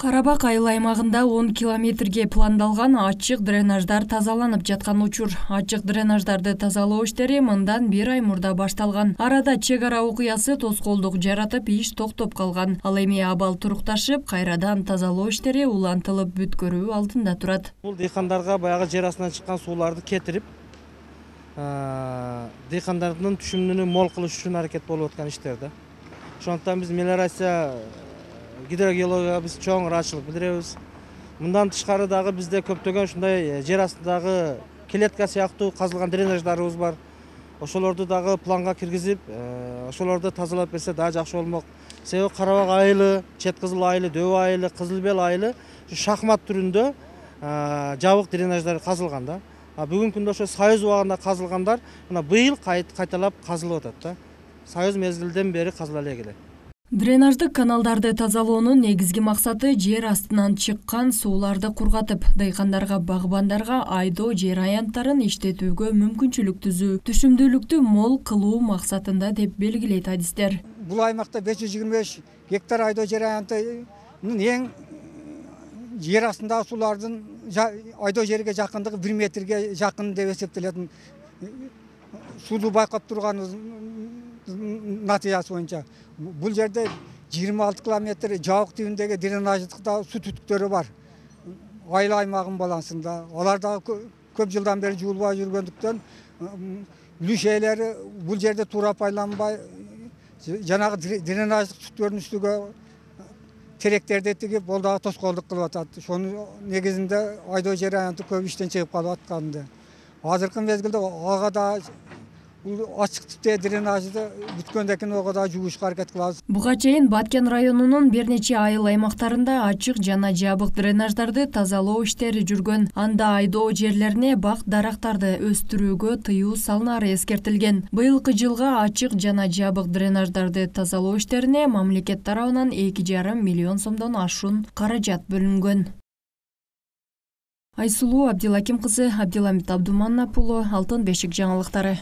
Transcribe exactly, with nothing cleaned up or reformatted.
Карабак айыл аймагында он километрге пландалган ачык дренаждар тазаланып жаткан учур. Ачык дренаждарды тазалоо иштери мындан бир ай мурда башталган. Арада чек ара окуясы тоскоолдук жаратып, иш токтоп калган. Ал эми абал турукташып, кайрадан тазалоо иштери улантылып бүткөрүү алдында турат. Бул дыйкандарга баягы жер астынан чыккан сууларды кетирип, дыйкандардын түшүмүнү мол кылыш үчүн аракет болуп аткан иштер да. Ошондуктан биз мелиорация гидрогеологияга биз чоң ыраачылык билдиребиз. Мындан тышкары дагы бизде көптөгөн ушундай жер астындагы клетка сыяктуу казылган дренаждарыбыз бар. Ошолорду дагы планга киргизип, ошолорду тазалап берсе дагы жакшы болмок. Себеби Карабак айылы, Чет Кызыл айылы, Дөбө айылы, Кызыл Бел айылы шахмат түрүндө жабык дренаждар казылган да. Бүгүнкү күндө ошо Союз убагында казылгандар мына быйыл кайталап казылып атат да. Союз мезгилден бери казыла эле келет. Дренаждык каналдарды тазалоонун негизги максаты жер астынан чыккан сууларды кургатып, дыйкандарга, багбандарга айдоо жер аянттарын иштетүүгө мүмкүнчүлүк түзүү, түшүмдүүлүктү мол кылуу максатында деп белгилейт адистер. Бул аймакта беш жүз жыйырма беш гектар айдоо жер аянтынын эң жер астындагы суулардын айдоо жерге жакындыгы бир метрге жакын деп эсептелет. Сууну байкап турганыбыз натыйжасы боюнча бул жерде жыйырма алты километр жабык түбүндөгү дренаждыкта суу түтүктөрү бар. Айыл аймагынын балансында алар дагы көп жылдан бери жуулбай жүргөндүктөн үлүш ээлери бул жерде туура пайдаланбай жанагы дренаждык түтүктөрдүн үстүгө теректерди тигип, ол дагы тоскоолдук кылып атат. Ошонун негизинде айдоо жер аянты көп иштен чыгып калып атканды. Азыркы мезгилде ага да бул ачык типтеги дренажды бүткөндөн кийин ого да жуушка аракет кылабыз. Буга чейин Баткен районунун бир нече айыл аймактарында ачык жана жабык дренаждарды тазалоо иштери жүргөн. Анда айдоо жерлерине бак дарактарды өстүрүүгө тыюу салынары эскертилген. Быйылкы жылга ачык жана жабык дренаждарды тазалоо иштерине мамлекет тарабынан эки жарым миллион сомдон ашуун каражат бөлүнгөн. Айсулуу Абдилаким кызы, Абдиламит Абдуманап уулу, Алтын бешик жаңылыктары.